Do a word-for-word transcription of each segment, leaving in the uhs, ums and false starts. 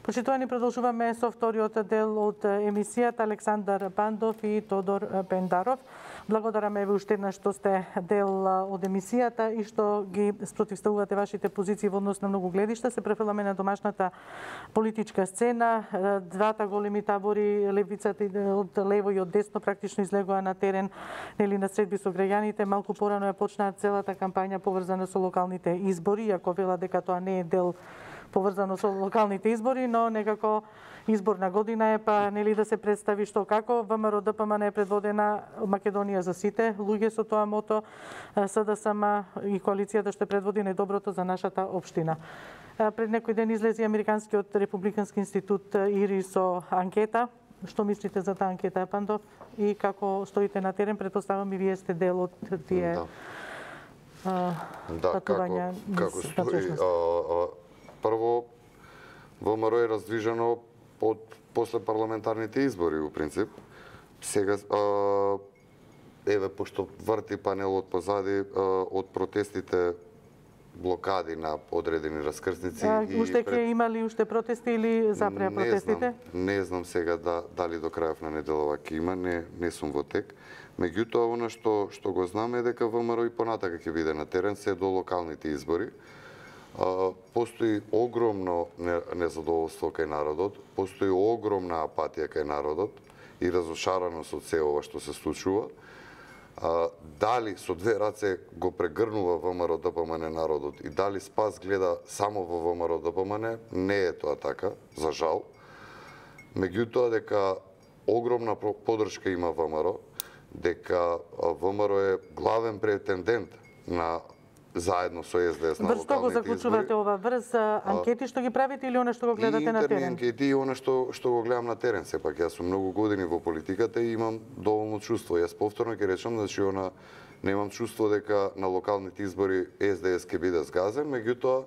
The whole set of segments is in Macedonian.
Почитувани, продолжуваме со вториот дел од емисијата. Александар Пандов и Тодор Пендаров. Благодараме ви уште еднаш што сте дел од емисијата и што ги спротивставувате вашите позиции во однос на многу гледишта. Се префрламе на домашната политичка сцена. Двата големи табори, левицата од лево и од десно, практично излегоа на терен нели на средби со граѓаните. Малку порано ја почнаа целата кампања поврзана со локалните избори, иако вела дека тоа не е дел поврзано со локалните избори, но некако изборна година е, па нели да се представи што како. ВМРО Д П М Н е предводена Македонија за сите луѓе со тоа мото, С Д С М и коалицијата што предводи најдоброто за нашата општина. Пред некој ден излезе Американскиот републикански институт ИРИ со анкета. Што мислите за таа анкета, Пандов? И како стоите на терен? Претпоставам и вие сте дел од тие да. а, да, патувања. Како, како стои, а, а, прво, ВМРО е раздвижено од после парламентарните избори, у принцип. Сега, а, еве, пошто врти панелот позади а, од протестите, блокади на одредени раскрсници. А, уште ќе пред... имали уште протести или запреа протестите? Не знам, не знам сега да, дали до крајот на неделова ќе има, не, не сум во тек. Меѓутоа, она што, што го знаме е дека ВМРО и понатака ќе биде на терен се до локалните избори. Uh, постои огромно незадоволство кај народот, постои огромна апатија кај народот и разошараност од се ова што се случува. Uh, дали со две раце го прегрнува ВМРО Д П М Н народот и дали спас гледа само во ВМРО Д П М Н, не е тоа така, за жал. Меѓутоа дека огромна поддршка има ВМРО, дека ВМРО е главен претендент на заедно со С Д С на локалните избори. Врз што го заклучувате ова? Врз анкети што ги правите или она што го гледате на терен? И интерни анкети и она што, што го гледам на терен. Сепак, јас сум многу години во политиката и имам доволно чувство. Јас повторно ќе речам, значи, она, немам чувство дека на локалните избори С Д С ќе биде сгазен, меѓутоа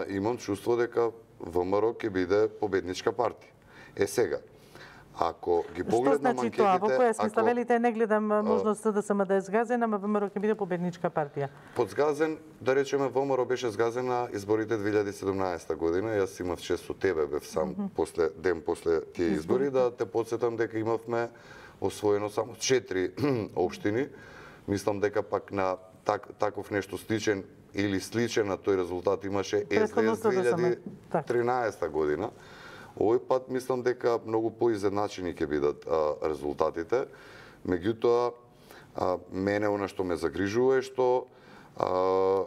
имам чувство дека ВМРО ќе биде победничка партија. Е сега, ако ги погледнам анкетите... Што значи тоа? Во која смисла? Велите, не гледам можност С Д С М да е сгазен, ама ВМРО ќе биде победничка партија. Под сгазен, да речеме, ВМРО беше сгазен на изборите две илјади и седумнаесета година. Јас имав чест со тебе, бев сам, mm -hmm. после, ден после тие избори, да те подсетам дека имавме освоено само четири општини. Мислам дека пак на так, таков нешто сличен или сличен на тој резултат имаше С Д С две илјади и тринаесета година. Овој пат мислам дека многу поизедначени ќе бидат а, резултатите. Меѓутоа, а, мене она што ме загрижува е што а,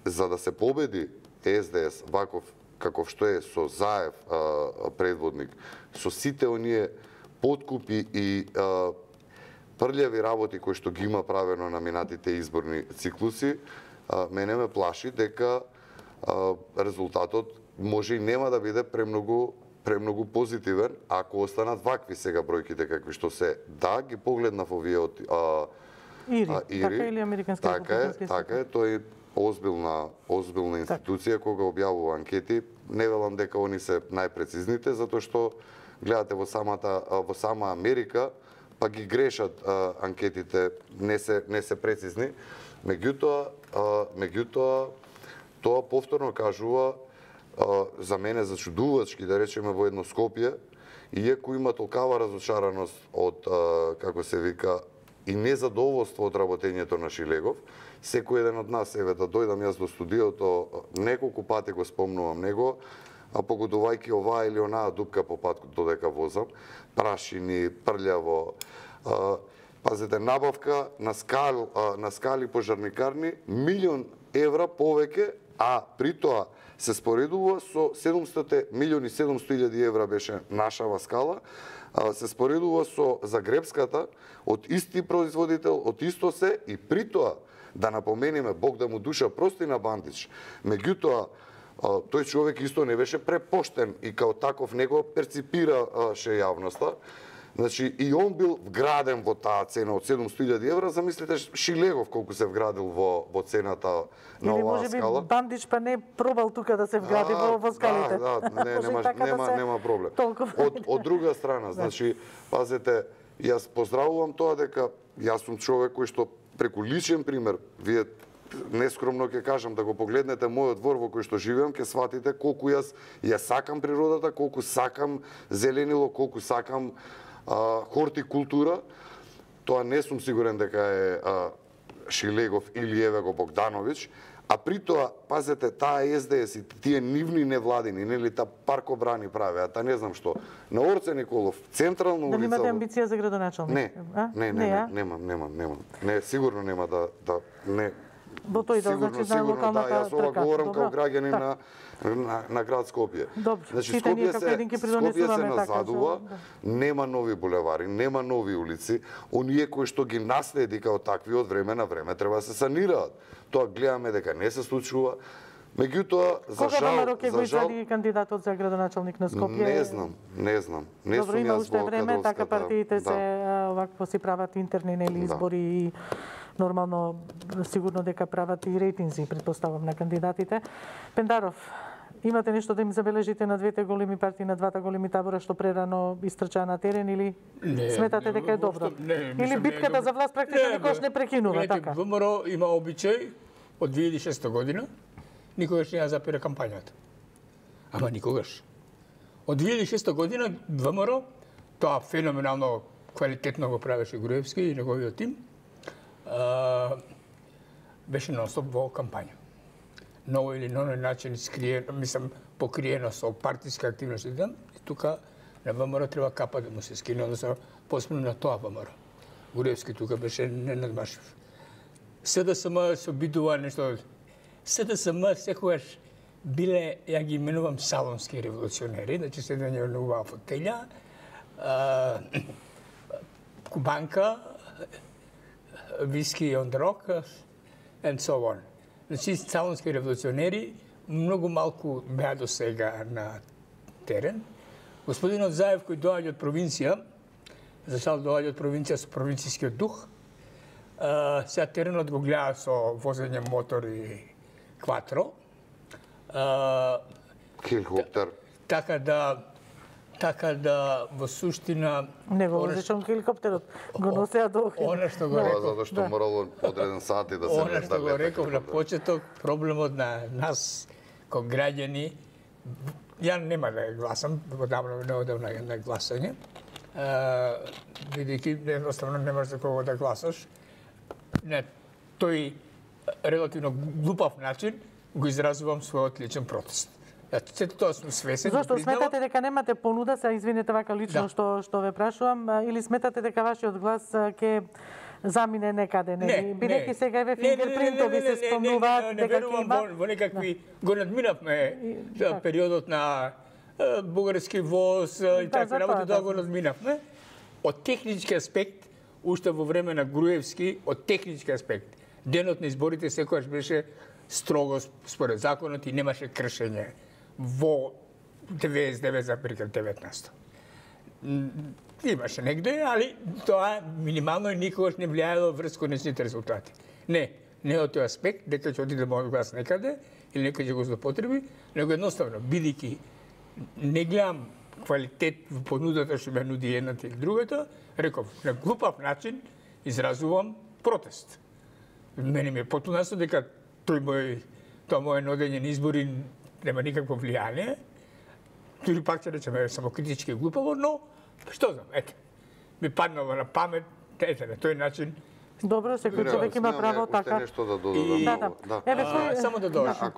за да се победи С Д С ваков каков што е со Заев а, предводник, со сите оние подкупи и а, прљави работи кои што ги има правено на минатите изборни циклуси, а, мене ме плаши дека а, резултатот може и нема да биде премногу премногу позитивен ако останат вакви сега бројките какви што се. Да, ги погледнав овие од а, Ири, а, Ири, така или Американски така е, така е, тој е озбилна, озбилна институција так. Кога објавува анкети. Не велам дека они се најпрецизните, затоа што гледате во самата во сама Америка, па ги грешат а, анкетите, не се не се прецизни. Меѓутоа, а, меѓутоа тоа повторно кажува за мене зачудувачки, да речеме, во едно Скопје, иако има толкава разочараност од, како се вика, и незадоволство од работењето на Шилегов, секој еден од нас, еве, да дојдам јас до студиото, неколку пати го спомнувам него, а погодувајќи оваа или онаа дупка по пат додека возам, прашини, прљаво, пазете, набавка на скали, на скали пожарникарни, милион евра повеќе, а при тоа се споредува со седумстотини милиони седумстотини илјади евра беше нашава скала, се споредува со Загребската од исти производител, од исто се, и при тоа да напомениме, Бог да му душа прости на Бандич, меѓутоа тој човек исто не беше препоштен и као таков него перципираше јавноста. Значи, и он бил вграден во таа цена од седумстотини илјади евра, замислите Шилегов колку се вградил во, во цената на или оваа скала. Или може би Бандич па не пробал тука да се вгради во, во скалите. Да, да, не, нема, така нема, да нема проблем. Од, од друга страна, значи, пазете, јас поздравувам тоа дека јас сум човек кој што преку личен пример, вие нескромно ќе кажам, да го погледнете мојот двор во кој што живеам, ќе сватите колку јас ја сакам природата, колку сакам зеленило, колку сакам а, хортикултура. Тоа не сум сигурен дека е а, Шилегов или еве го Богдановиќ, а при тоа, пазете, таа Ес Де Ес и тие нивни невладини, нели, та паркобрани правеа, та не знам што. На Орце Николов, централна улица... Дали имате амбиција за градоначалник? Не, не, не, не, немам, немам, немам. Не, сигурно нема да, да, не... Во тој дел, значи, на локалната да, јас ова говорам како граѓанин на, на, на град Скопје. Добро, значи, сите ние како един ќе придонесуваме така. Скопје се назадува, да. нема нови булевари, нема нови улици, оние кои што ги наследи као такви од време на време треба да се санираат. Тоа гледаме дека не се случува. Меѓутоа, за Кога жал, ВМРО ќе за го жал, извади кандидатот за градоначалник на Скопје? Не знам, не знам. Не Добро, сум има јас уште во време, кадровската... така партиите да. се овакво си прават интерни нели избори и нормално сигурно дека прават и рейтинзи, претпоставам, на кандидатите. Пендаров, имате нешто да им забележите на двете големи партии, на двата големи табора што прерано истрчаа на терен или не, сметате дека е добро? Не, или битката не, за власт практично никош не прекинува, така? ВМРО има обичај од две илјади и шеста година, никогаш не ја запира кампањата. Ама никогаш. Од две илјади и шеста година ВМРО, тоа феноменално квалитетно го правеше Груевски и неговиот тим, а, беше нон-стоп во кампања. На овој или на оној начин скриено, мислам, покриено со партиска активност и ден, и тука на ВМРО треба капа да му се скине, односно посебно на тоа ВМРО. Груевски тука беше ненадмашив. СДСМ се обидува нешто. СДСМ секогаш биле, ја ги именувам салонски револуционери, значи седење на убава фотелја, кубанка, виски on the rock, and so on. Значи, салонски револуционери многу малку беа до сега на терен. Господинот Заев, кој доаѓа од провинција, зашал доаѓа од провинција со провинцијскиот дух, Uh, сега теренот го гледа со возење мотор и кватро. Uh, Хеликоптер. Така да, така да во суштина... Не го возечам хеликоптерот, го носеа до Охрид. Она што го реков... Затоа што морало одреден сати да се... Она што го реков на почеток, проблемот на нас, како граѓани, ја нема да гласам, одамно не одам на, на гласање, uh, бидејќи едноставно немаш за кого да гласаш, на тој релативно глупав начин го изразувам својот личен протест. Сето тоа сум свесен. Зошто сметате дека немате понуда, се извинете вака лично да. што што ве прашувам, или сметате дека вашиот глас ќе замине некаде, нели? Бидејќи сега еве фингерпринтови се спомнуваат дека ќе има. Во некакви го надминавме периодот на бугарски воз и такви работи, тоа го надминавме. Од технички аспект, уште во време на Груевски, од технички аспект, денот на изборите секогаш беше строго според законот и немаше кршење во деветдесет и девет запирка деветнаесет. Имаше негде, али тоа минимално и никогаш не влијаело врз конечните резултати. Не, не од тој аспект, дека ќе отиде мојот глас некаде или некој ќе го злоупотреби, него едноставно, бидејќи не гледам квалитет во понудата што ме нуди едната или другата, реков, на глупав начин изразувам протест. Мене ми е потpuno ясно дека тој мој, тоа моје нодење на избори нема никакво влијание. Дури пак ќе речеме самокритички глупаво, но што знам, ете, ми паднало на памет, ете, на тој начин. Добро, секој човек има право така. Уште нешто да додадам. Да, да. да. Еве, А, само да додам.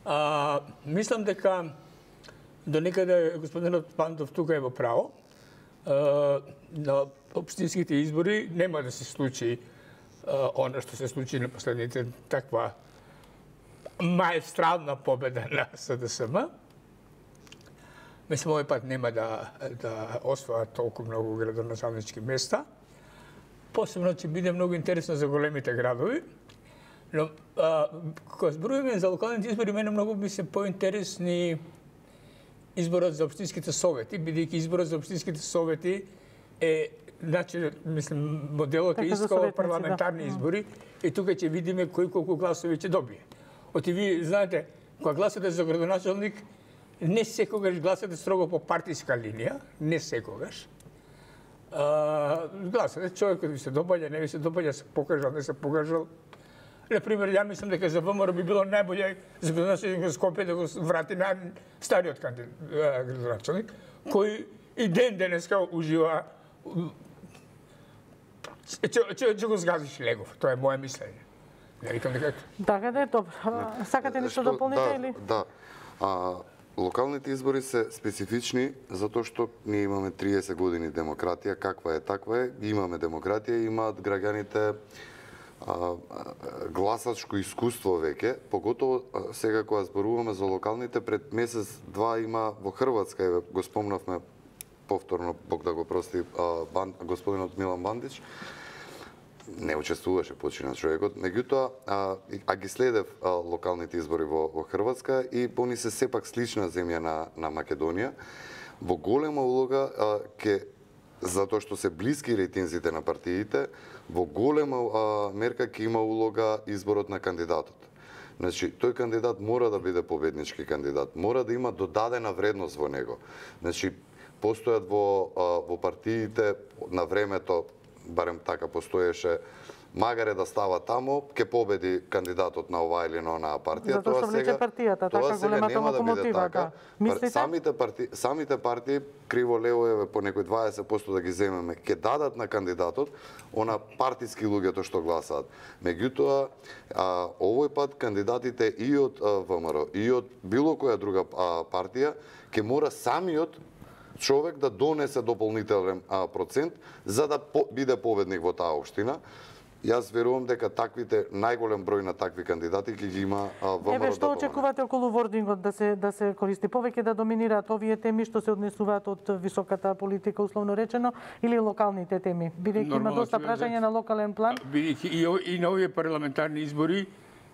А, мислам дека до некаде господинот Пандов тука е во право. А, на општинските избори нема да се случи а, она што се случи на последните, таква маестрална победа на СДСМ. Мислам, овој пат нема да, да освојат толку многу градоначалнички места. Посебно ќе биде многу интересно за големите градови. Но, а, кога зборуваме за локалните избори, мене многу би се поинтересни изборот за општинските совети, бидејќи изборот за општинските совети е, значи, мислам, моделот е ист како парламентарни да. избори и тука ќе видиме кој колку гласови ќе добие. Оти ви знаете, кога гласате за градоначалник, не секогаш гласате строго по партиска линија, не секогаш. А, гласате, човекот ви се добаѓа, не ви се добаѓа, се покажал, не се покажал. На пример, ја мислам дека за ВМРО би било најболje за градоначелник Скопје да го врати на стариот кандидат градоначелник, кој и ден денеска ужива ќе го згазиш Легов. Тоа е моје мислење. Не викам дека Така да е, добро. Сакате нешто да дополните или? Да. А, локалните избори се специфични затоа што ние имаме триесет години демократија, каква е таква е, имаме демократија, имаат граѓаните а, гласачко искуство веќе, поготово а, сега кога зборуваме за локалните, пред месец два има во Хрватска, еве го спомнавме повторно, Бог да го прости, а, бан, господинот Милан Бандич, не учествуваше почина човекот, меѓутоа а, а ги следев а, локалните избори во, во Хрватска и они се сепак слична земја на, на Македонија. Во голема улога а, ке, затоа што се блиски рейтинзите на партиите, во голема а, мерка ќе има улога изборот на кандидатот. Значи, тој кандидат мора да биде победнички кандидат, мора да има додадена вредност во него. Значи, постојат во, а, во партиите на времето, барем така постоеше, магаре да става тамо, ќе победи кандидатот на оваа или на онаа партија. Затоа што влече партијата, така големата локомотива. Да. Мислите? Самите партии, самите партии криво лево еве по некои дваесет проценти да ги земеме, ќе дадат на кандидатот она партиски луѓето што гласаат. Меѓутоа, а, овој пат кандидатите и од а, ВМРО и од било која друга а, партија ќе мора самиот човек да донесе дополнителен а, процент за да по, биде победник во таа општина. Јас верувам дека таквите најголем број на такви кандидати ќе ги има ВМРО. Еве што очекувате околу вордингот да се да се користи повеќе, да доминираат овие теми што се однесуваат од високата политика условно речено или локалните теми, бидејќи има доста прашања на локален план. Бидејќи и, и на овие парламентарни избори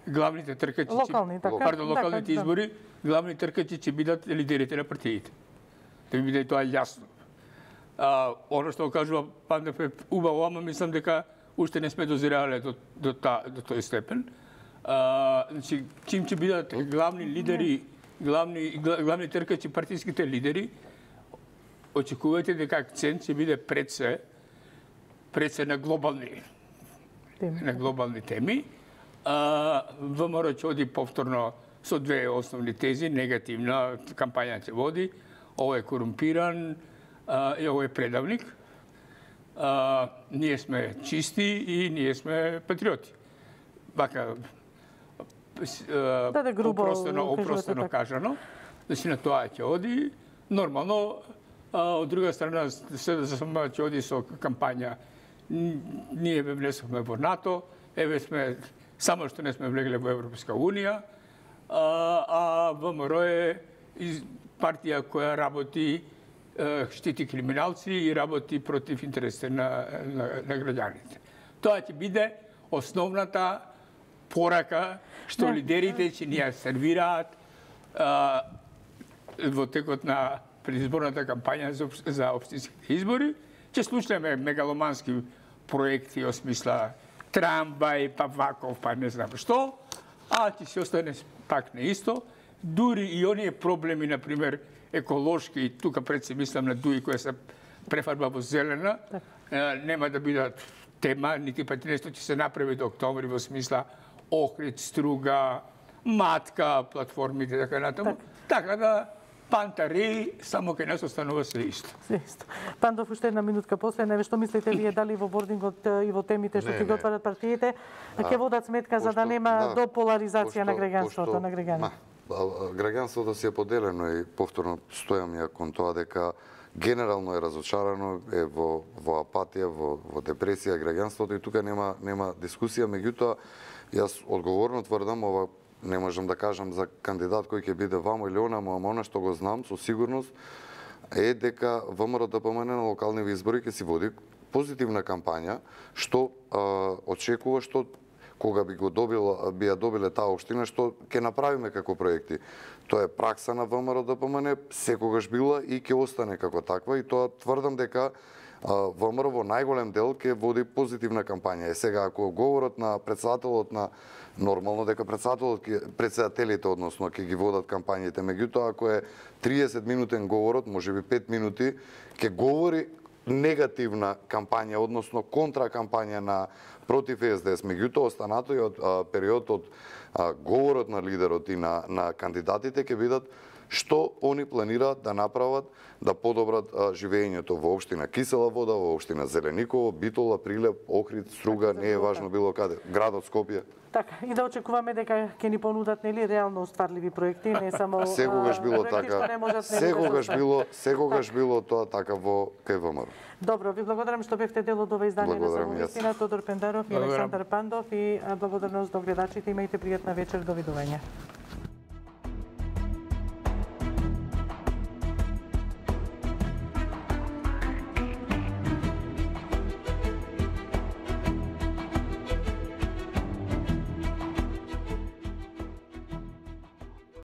главните тркачи локални, така, пардон, локалните така, избори, да. Главни тркачи ќе бидат лидерите на партиите. Да ви биде тоа јасно. А, оно што кажува Пандев е убаво, ама мислам дека уште не сме дозирале до, до, та, до тој степен. А, значи, чим ќе бидат главни лидери, главни, главни тркачи, партиските лидери, очекувате дека акцент ќе биде пред се, пред се на глобални теми. На глобални теми. А, ВМРО ќе оди повторно со две основни тези, негативна кампања ќе води, ово е корумпиран а, и ово е предавник. А, ние сме чисти и ние сме патриоти. Вака, да, да, грубо, опростено, опростено кажано, значи на тоа ќе оди. Нормално, а, од друга страна, се да сама ќе оди со кампања. Ние ве внесовме во НАТО, еве сме, само што не сме влегле во Европска Унија, а, а ВМРО е партија која работи, штити криминалци и работи против интересите на, на, на граѓаните. Тоа ќе биде основната порака што не. Лидерите ќе ни ја сервираат а, во текот на предизборната кампања за, за општинските избори. Ќе слушнеме мегаломански проекти во смисла трамвај, па ваков, па не знам што, а ќе се остане пак неисто. Дури и оние проблеми, например, еколошки, тука пред се мислам на Дуи која се префарба во зелена, нема да бидат тема, нити пати нешто ќе се направи до октомври во смисла Охрид, Струга, Матка, платформите, така натаму. Така да пантари, само кај нас останува се исто. Се исто. Пандов, уште една минутка после, неве што мислите вие дали во бордингот и во темите што ќе го отварат партиите, ќе водат сметка за да нема до поларизација на граѓанството, на граѓаните? Граѓанството си е поделено и повторно стојам ја кон тоа дека генерално е разочарано, е во, во апатија, во, во депресија граѓанството и тука нема, нема дискусија, меѓутоа јас одговорно тврдам, ова не можам да кажам за кандидат кој ќе биде вамо или онамо, ама она што го знам со сигурност е дека ВМРО-ДПМН на локални избори ќе си води позитивна кампања, што а, очекува што кога би го добил, би ја добиле таа општина, што ќе направиме како проекти. Тоа е пракса на ВМРО-ДПМН, секогаш била и ќе остане како таква и тоа тврдам дека ВМРО во најголем дел ќе води позитивна кампања. Е сега ако говорот на председателот на нормално дека председателот председателите односно ќе ги водат кампањите, меѓутоа ако е триесет минутен говорот, можеби пет минути, ќе говори негативна кампања, односно контракампања на против Е Ес Де Ес. Меѓутоа, останатиот период од а, говорот на лидерот и на, на кандидатите ќе бидат што они планираат да направат да подобрат а, живеењето во општина Кисела Вода, во општина Зелениково, Битола, Прилеп, Охрид, Струга, не е важно било каде, градот Скопје. Така, и да очекуваме дека ќе ни понудат нели реално остварливи проекти, не само Секогаш било така. Секогаш било, секогаш било тоа така во Ка В М Р. Добро, ви благодарам што бевте дел од ова издание на Самоистина. Тодор Пендаров и Александар Пандов, и благодарност до гледачите. Имајте пријатна вечер, довидување.